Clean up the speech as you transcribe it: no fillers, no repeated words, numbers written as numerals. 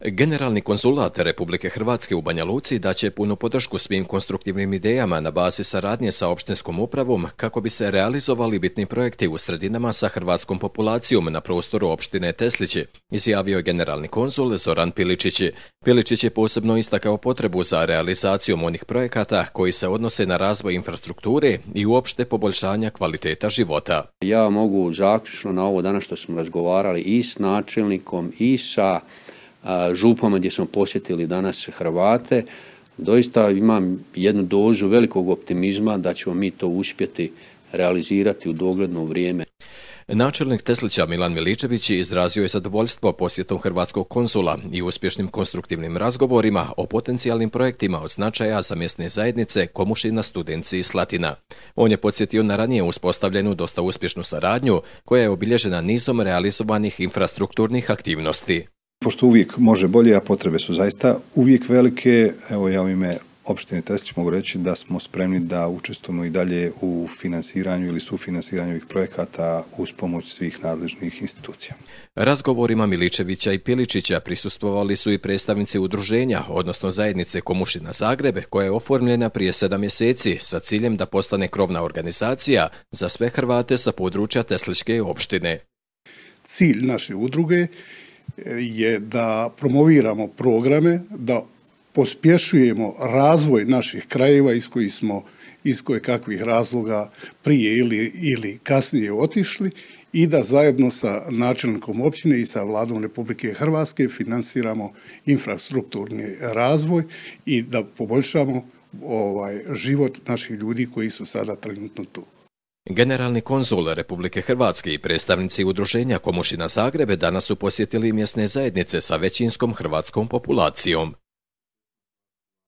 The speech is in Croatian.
Generalni konzulat Republike Hrvatske u Banja Luci daće punu podršku svim konstruktivnim idejama na bazi saradnje sa opštinskom upravom kako bi se realizovali bitni projekti u sredinama sa hrvatskom populacijom na prostoru opštine Teslići, izjavio generalni konzul Zoran Piličić. Piličić je posebno istakao potrebu za realizacijom onih projekata koji se odnose na razvoj infrastrukture i uopšte poboljšanja kvaliteta života. Ja mogu zaključno na ovo danas što smo razgovarali i s načelnikom i sa župama gdje smo posjetili danas Hrvate, doista imam jednu dozu velikog optimizma da ćemo mi to uspjeti realizirati u dogledno vrijeme. Načelnik Teslića Milan Miličević izrazio je zadovoljstvo posjetom hrvatskog konzula i uspješnim konstruktivnim razgovorima o potencijalnim projektima od značaja za mjesne zajednice Komušina, Studenci i Slatina. On je podsjetio na ranije uspostavljenu dosta uspješnu saradnju koja je obilježena nizom realizovanih infrastrukturnih aktivnosti. Pošto uvijek može bolje, a potrebe su zaista uvijek velike, evo ja u ime opštine Teslić mogu reći da smo spremni da učestvujemo i dalje u finansiranju ili sufinansiranju ovih projekata uz pomoć svih nadležnih institucija. Razgovorima Miličevića i Piličića prisustvovali su i predstavnici udruženja, odnosno zajednice Komušina Zagreb, koja je oformljena prije 7 mjeseci sa ciljem da postane krovna organizacija za sve Hrvate sa područja Tesličke opštine. Cilj naše udruge je da promoviramo programe, da pospješujemo razvoj naših krajeva iz koje kakvih razloga prije ili kasnije otišli i da zajedno sa načelnikom općine i sa Vladom Republike Hrvatske finansiramo infrastrukturni razvoj i da poboljšamo život naših ljudi koji su sada trenutno tu. Generalni konzul Republike Hrvatske i predstavnici udruženja Komušina Zagrebe danas su posjetili mjesne zajednice sa većinskom hrvatskom populacijom.